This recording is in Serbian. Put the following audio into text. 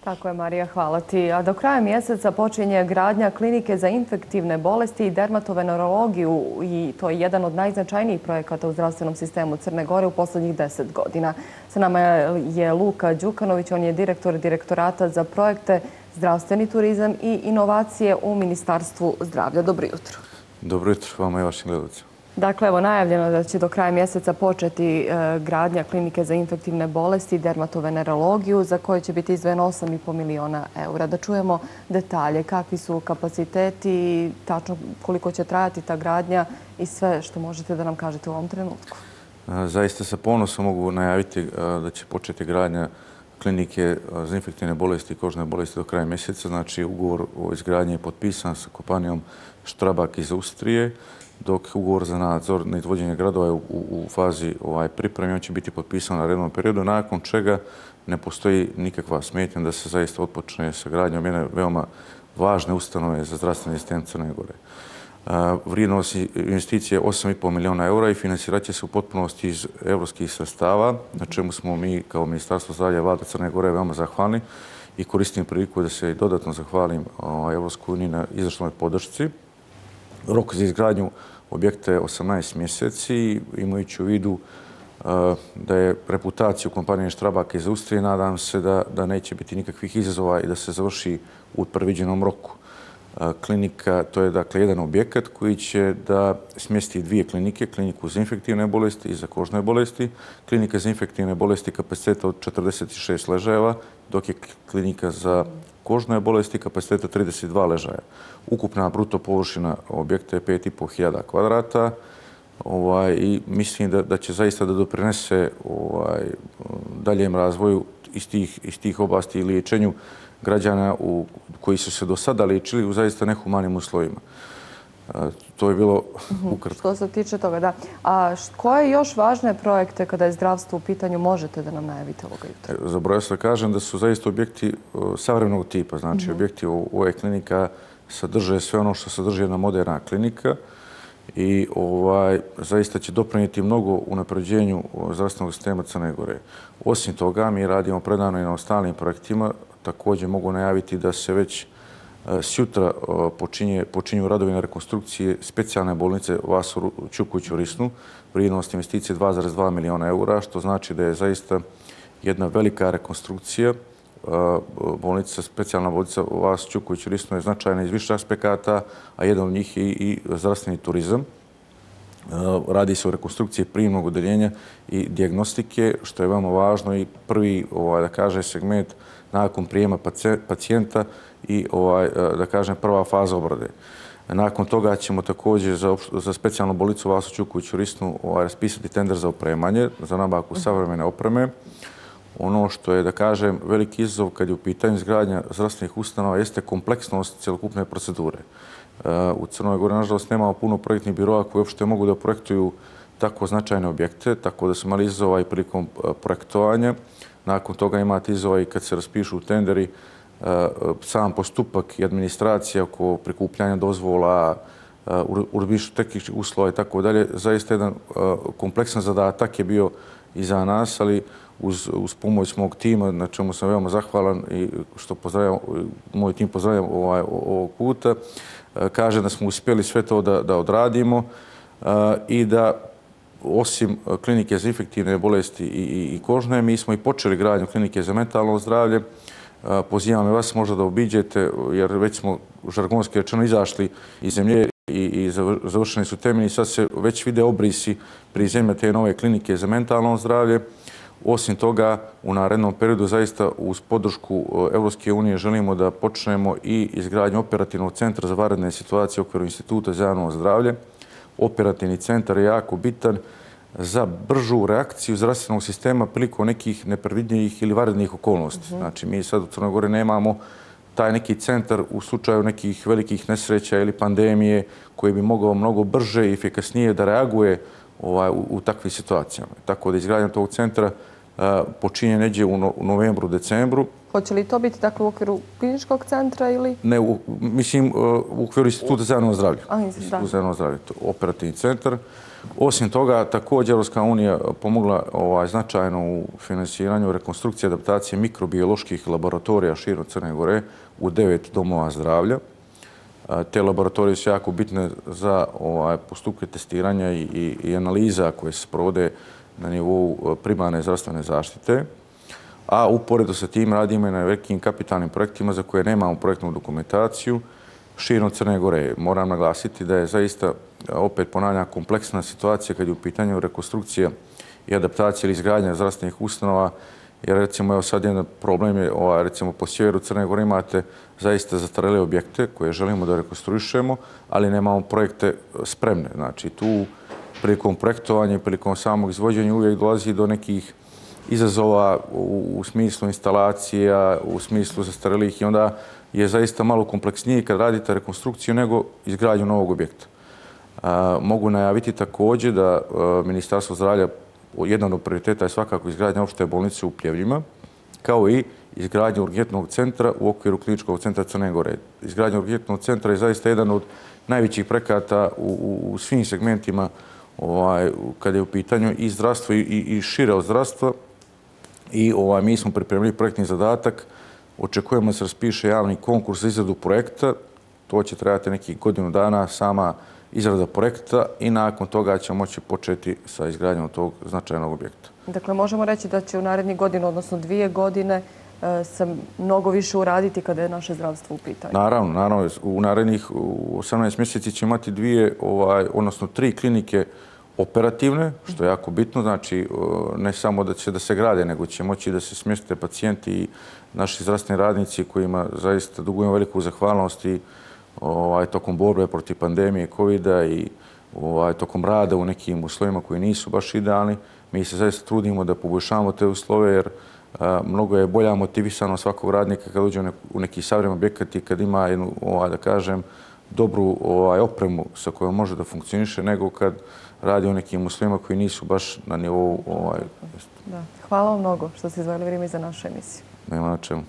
Tako je, Marija, hvala ti. A do kraja mjeseca počinje gradnja klinike za infektivne bolesti i dermatovenerologiju i to je jedan od najznačajnijih projekata u zdravstvenom sistemu Crne Gore u posljednjih 10 godina. Sa nama je Luka Đukanović, on je direktor Direktorata za projekte, zdravstveni turizam i inovacije u Ministarstvu zdravlja. Dobro jutro. Dobro jutro vama i vašim gledalcima. Dakle, evo najavljeno je da će do kraja mjeseca početi gradnja klinike za infektivne bolesti i dermatovenerologiju za koje će biti izdvojeno 8,5 miliona eura. Da čujemo detalje, kakvi su kapaciteti, tačno koliko će trajati ta gradnja i sve što možete da nam kažete u ovom trenutku. Zaista sa ponosom mogu najaviti da će početi gradnja klinike za infektivne bolesti i kožne bolesti do kraja mjeseca. Znači, ugovor o izgradnji je potpisan sa kompanijom Strabag iz Austrije, dok ugovor za nadzor na izvođenje gradova je u fazi pripreme. On će biti potpisan na redovnom periodu, nakon čega ne postoji nikakva smetnja da se zaista otpočne sa gradnjom jedne veoma važne ustanove za zdravstveni sistem Crne Gore. Vrijednost investicije je 8,5 miliona eura i financirat će se u potpunosti iz evropskih sredstava, na čemu smo mi kao Ministarstvo zdravlja i Vlada Crne Gore veoma zahvalni i koristim priliku da se dodatno zahvalim Evropskoj uniji na izdašnoj podršci. Rok za izgradnju objekta je 18 mjeseci, imajući u vidu da je reputaciju kompanije Strabag iz Austrije, nadam se da neće biti nikakvih izazova i da se završi u predviđenom roku. Klinika, to je dakle jedan objekat koji će da smjesti dvije klinike, kliniku za infektivne bolesti i za kožne bolesti. Klinika za infektivne bolesti kapaciteta od 46 ležajeva, dok je klinika za kožne bolesti kapaciteta 32 ležaja. Ukupna bruto površina objekta je 5.500 kvadrata i mislim da će zaista da doprinese daljem razvoju iz tih oblasti i liječenju građana koji su se do sada liječili u zaista nehumanim uslovima. To je bilo ukratko. Što se tiče toga, da. A koje još važne projekte kada je zdravstvo u pitanju možete da nam najavite ovoga jutra? Zaboravio sam da kažem da su zaista objekti savremenog tipa. Znači, objekti ove klinika sadrže sve ono što sadrži jedna moderna klinika i zaista će doprinijeti mnogo unapređenju zdravstvenog sistema Crne Gore. Osim toga, mi radimo predano i na ostalim projektima. Također mogu najaviti da se već sjutra počinju radovi na rekonstrukcije specijalne bolnice Vaso Ćuković u Risnu, vrijednost investicije 2,2 miliona eura, što znači da je zaista jedna velika rekonstrukcija. Specijalna bolnica Vaso Ćuković u Risnu je značajna iz više aspekata, a jedan od njih je i zdravstveni turizam. Radi se o rekonstrukciji prijemnog odeljenja i dijagnostike, što je veoma važno i prvi, da kaže, segment nakon prijema pacijenta i, da kažem, prva faza obrade. Nakon toga ćemo također za specijalnu bolnicu Vaso Ćuković u Risnu raspisati tender za opremanje, za nabavku savremene opreme. Ono što je, da kažem, veliki izazov kad je u pitanju izgradnja zdravstvenih ustanova jeste kompleksnost cjelokupne procedure. U Crnoj Gori, nažalost, nemamo puno projektnih biroa koji uopšte mogu da projektuju tako značajne objekte, tako da su imali izazova i prilikom projektovanja. Nakon toga imate izazova i kad se raspišu tenderi, sam postupak i administracija oko prikupljanja dozvola, urbišu tehničkih uslova i tako dalje. Zaista jedan kompleksan zadatak je bio i za nas, ali uz pomoć mog tima, na čemu sam veoma zahvalan i što moj tim pozdravljam ovog puta, kaže da smo uspjeli sve to da odradimo i da osim klinike za infektivne bolesti i kožne, mi smo i počeli gradnju klinike za mentalno zdravlje. Pozivam i vas možda da obiđete, jer već smo žargonski rečeno izašli iz zemlje i završeni su temelji. Sad se već vide obrisi prizemlja te nove klinike za mentalno zdravlje. Osim toga, u narednom periodu zaista uz podršku Evropske unije želimo da počnemo i izgradnju operativnog centra za vanredne situacije u okviru Instituta za javno zdravlje. Operativni centar je jako bitan za bržu reakciju zdravstvenog sistema prilikom nekih nepredvidljivih ili vanrednih okolnosti. Znači, mi sad u Crnoj Gori nemamo taj neki centar u slučaju nekih velikih nesreća ili pandemije koji bi mogao mnogo brže i efikasnije da reaguje u takvim situacijama. Tako da izgradnja tog centra počinje neđe u novembru, decembru Hoće li to biti dakle, u okviru kliničkog centra ili? Ne, mislim u okviru Instituta za javno zdravlje. Institut za javno zdravlje, operativni centar. Osim toga, također Europska unija pomogla značajno u finansiranju rekonstrukcije i adaptacije mikrobioloških laboratorija širom Crne Gore u 9 domova zdravlja. Te laboratorije su jako bitne za postupke testiranja i analiza koje se sprovode na nivou primarne zdravstvene zaštite. A uporedo sa tim radimo i na velikim kapitalnim projektima za koje nemamo projektnu dokumentaciju širom Crne Gore. Moram naglasiti da je zaista, opet ponavljam, kompleksna situacija kad je u pitanju rekonstrukcija i adaptacija ili izgradnja zdravstvenih ustanova, jer recimo evo sad jedan problem je, recimo po sjeveru Crne Gore imate zaista zastarjele objekte koje želimo da rekonstruišemo, ali nemamo projekte spremne. Znači tu prilikom projektovanja i prilikom samog izvođenja uvijek dolazi do nekih izazova u smislu instalacija, u smislu zastarjelih i onda je zaista malo kompleksnije kad radite rekonstrukciju nego izgradnju novog objekta. Mogu najaviti također da Ministarstvo zdravlja, jedan od prioriteta je svakako izgradnja opšte bolnice u Pljevljima, kao i izgradnja urgentnog centra u okviru kliničkog centra Crne Gore. Izgradnja urgentnog centra je zaista jedan od najvećih projekata u svim segmentima kada je u pitanju i zdravstvo i šire od zdravstva. I mi smo pripremili projektni zadatak. Očekujemo da se raspiše javni konkurs za izradu projekta. To će trajati nekih godinu dana, sama izrada projekta i nakon toga ćemo moći početi sa izgradnjom tog značajnog objekta. Dakle, možemo reći da će u narednih godinu, odnosno 2 godine, se mnogo više uraditi kada je naše zdravstvo u pitanju. Naravno. U narednih 18 mjeseci će imati 3 klinike operativne, što je jako bitno. Znači, ne samo da će da se grade, nego će moći da se smjeste pacijenti i naši zdravstveni radnici kojima zaista dugujemo veliku zahvalnost i tokom borbe protiv pandemije COVID-a i tokom rada u nekim uslovima koji nisu baš idealni. Mi se zaista trudimo da poboljšamo te uslove jer mnogo je bolja motivisanost svakog radnika kad uđe u neki savremen objekat i kad ima jednu, da kažem, dobru opremu sa kojom može da funkcioniše nego kad radi u nekim uslovima koji nisu baš na nivou... Hvala vam mnogo što ste izdvojili vrijeme za našu emisiju. Nema na čemu.